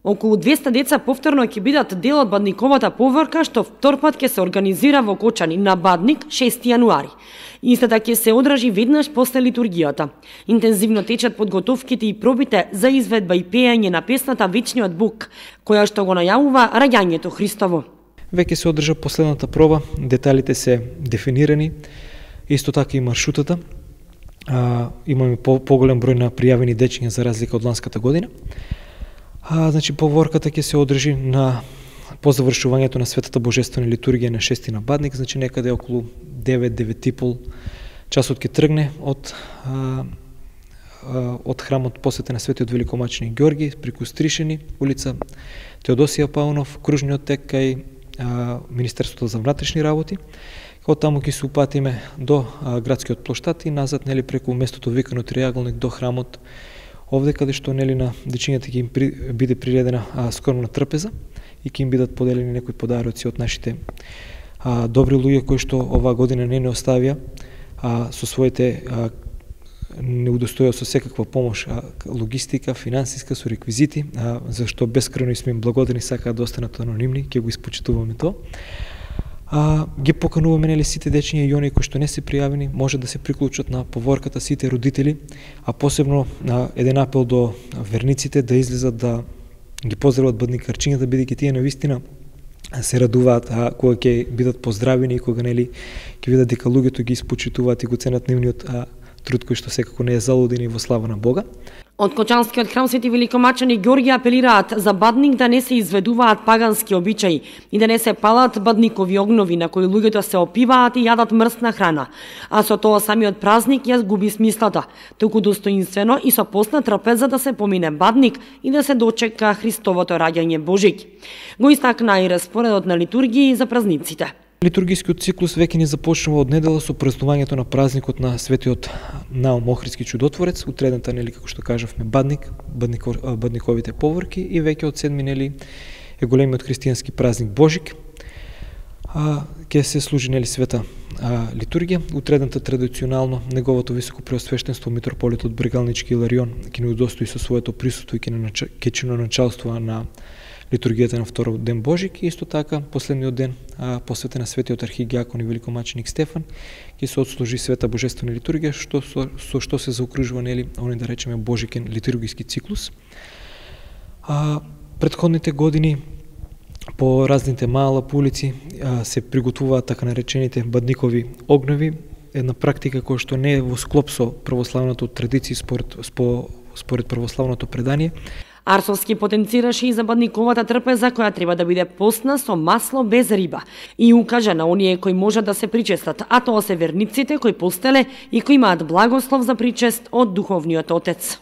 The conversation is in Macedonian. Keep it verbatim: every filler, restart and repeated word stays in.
Околу двеста деца повторно ќе бидат дел од бадниковата поворка што вторпат ќе се организира во Кочани на Бадник шести јануари. Истата ќе се одржи веднаш после литургијата. Интензивно течат подготовките и пробите за изведба и пеење на песната Вечниот Бог, која што го најавува раѓањето Христово. Веќе се одржа последната проба, деталите се дефинирани, исто така и маршрутата. А, имаме по поголем број на пријавени дечиња за разлика од ланската година. А, значи, поворката ќе се одржи на по завршувањето на Светата Божествена литургија на шести на Бадник, значи некаде околу девет до девет и пол часот ќе тргне од а, а, од храмот посветен на Светиот Великомаченик Ѓорги, преку Стришени, улица Теодосија Паунов, кружниот тек кај а, Министерството за внатрешни работи. Од таму ќе се упатиме до а, градскиот плоштад и назад, нели, преку местото викано триаголник до храмот, овде каде што, нели, на дечињата ќе им при, биде приредена а, скромна трпеза и ќе им бидат поделени некои подароци од нашите а, добри луѓе кои што оваа година не не оставија а, со своите а, не удостоја со секаква помош, а, логистика, финансиска, со реквизити, а, зашто бескрено сме им благодарни, сакаат да останат анонимни, ќе го испочитуваме тоа. А, ги покануваме, нели, сите дечиња и оние кои што не се пријавени, може да се приклучат на поворката, сите родители, а посебно на еден апел до верниците да излезат да ги поздрават бадникарчињата, бидејќи тие навистина се радуваат а кога ќе бидат поздравени и кога, нели, ќе видат дека луѓето ги испочитуваат и го ценат нивниот а, труд кој што секако не е залуден и во слава на Бога. Од Кочанскиот храм Свети Великомаченик Ѓорги апелираат за Бадник да не се изведуваат пагански обичаи и да не се палат бадникови огнови на кои луѓето се опиваат и јадат мрсна храна, а со тоа самиот празник ја губи смислата, туку достоинствено и со постна трпеза да се помине Бадник и да се дочека Христовото раѓање Божик. Го истакна и распоредот на литургии за празниците. Литургискиот циклус веќе ни започнува од недела со празнувањето на празникот на Светиот Наум Охридски чудотворец, утредната, нели, како што кажавме, Бадник, баднико, бадниковите поворки, и веќе од седми, нели, е големиот христијански празник Божик. А, ќе се служи, нели, света а, литургија. Утредната традиционално неговото високо преосвештенство митрополитот Брегалнички Иларион ќе ни удостои со своето присуство и ќе чиноначалствува на литургијата на вториот ден Божик, и исто така последниот ден а, посветен на светиот архидијакон и великомаченик Стефан ќе се отслужи света божествена литургија, што со, со што се заокружува, нели, оној, да речеме, божикен литургиски циклус. А, предходните години по разните мала по улици а, се приготвуваат така наречените бадникови огнови, една практика која што не е во склоп со православната традиција според, спо, според православното предание. Арсовски потенцираше и за бадниковата трпеза која треба да биде постна со масло без риба и укажа на оние кои можат да се причестат, а тоа се верниците кои постеле и кои имаат благослов за причест од Духовниот Отец.